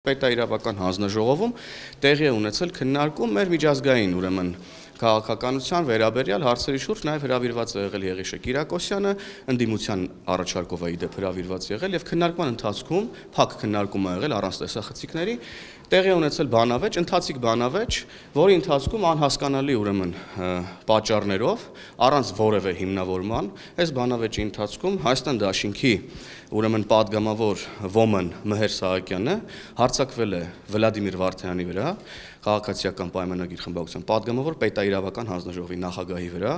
Պետաիրավական հանձնաժողովում տեղի է ունեցել քննարկում մեր միջազգային ուրեմն քաղաքականության վերաբերյալ հարցերի շուրջ, նաև հրավիրված է եղել Եղիշե Կիրակոսյանը, ընդդիմության առաջարկով է իդեպ հրավիրված եղել եւ քննարկման ընթացքում փակ քննարկում է եղել առանց տեսախցիկների, տեղի է ունեցել բանավեճ, ընթացիկ բանավեճ, որի ընթացքում անհասկանալի ուրեմն պատճառներով, առանց որևէ հիմնավորման, այս բանավեճի ընթացքում Հայաստան Դաշինքի ուրեմն падգամավոր Ոմն Մհեր Սահակյանը հարձակվել է Վլադիմիր Վարդյանի վրա, քաղաքացիական պայմանագիր խմբակցության падգամավոր պետաիրավական հանձնաժողովի նախագահի վրա,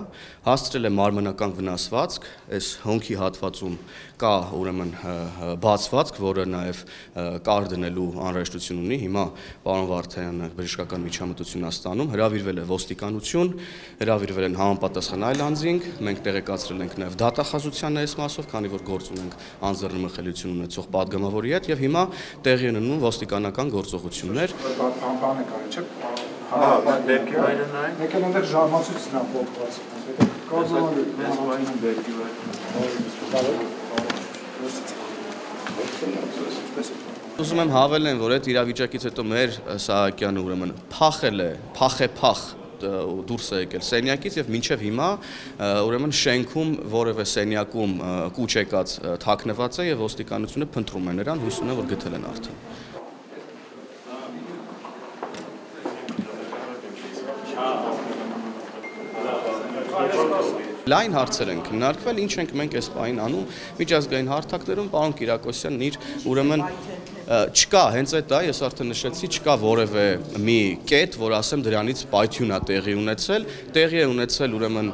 հասցրել է մարմնական վնասվածք, այս հոնքի հատվածում կա ուրեմն բացվածք, որը նաև կար դնելու անհրաժեշտություն ունի, հիմա պարոն Վարդյանը բժշկական միջամտություն է ստանում, հրավիրվել է ոստիկանություն, հրավիրվել են համապատասխան այլ անձինք, մենք տեղեկացրել ենք նաև դատախազության այս մասով, քանի որ գործ ունենք անձեռնմխելիություն ունեցող падգամավորի հետ եւ հիմա տեղի են ունենում ոստիկանական գործողություններ։ Ուզում եմ հավելեմ, որ այդ իրավիճակից հետո մեր Սահակյանը ուրեմն փախ դուրս է եկել սենյակից եւ մինչեւ հիմա ուրեմն շենքում որևէ սենյակում կուչ եկած թաքնված է եւ ոստիկանությունը փնտրում է նրան, հույս ունեմ, որ գտել են արդեն։ Լայն հարցեր են քննարկվել, ինչ ենք մենք այս պահին անում միջազգային հարթակներում, պարոն Կիրակոսյանն իր ուրեմն չկա, հենց այդ է, ես արդեն նշեցի, չկա որևէ մի կետ, որ ասեմ դրանից պայթյուն է տեղի է ունեցել ուրեմն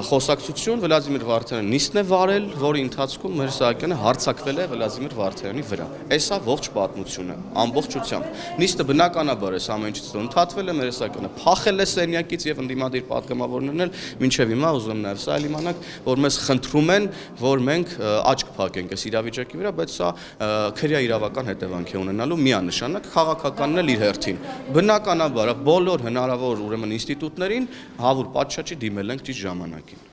խոսակցություն, Վլադիմիր Վարդյանը նիստն է վարել, որի ընթացքում Մհեր Սահակյանը հարձակվել է Վլադիմիր Վարդյանի վրա։ Էսա ողջ պատմությունը, ամբողջությամբ։ Նիստը բնականաբար այս ամեն ինչից ընդհատվել է, Մհեր Սահակյանը փախել է սենյակից եւ ընդդիմադիր падգամավորներն էլ մինչեւ հիմա ուզում եմ նաեւ սա իմանաք, որ մեզ խնդրում են, որ մենք աչք փակենք այս իրավիճակի վրա, բայց սա քրեա իրավական հետևանք է ունենալու միանշանակ, քաղաքականն էլ իր հերթին։ Բնականաբար բոլոր հնարավոր ուրեմն ինստիտուտներին հավուր պատշաճի դիմել ենք ճիշտ ժամանակին։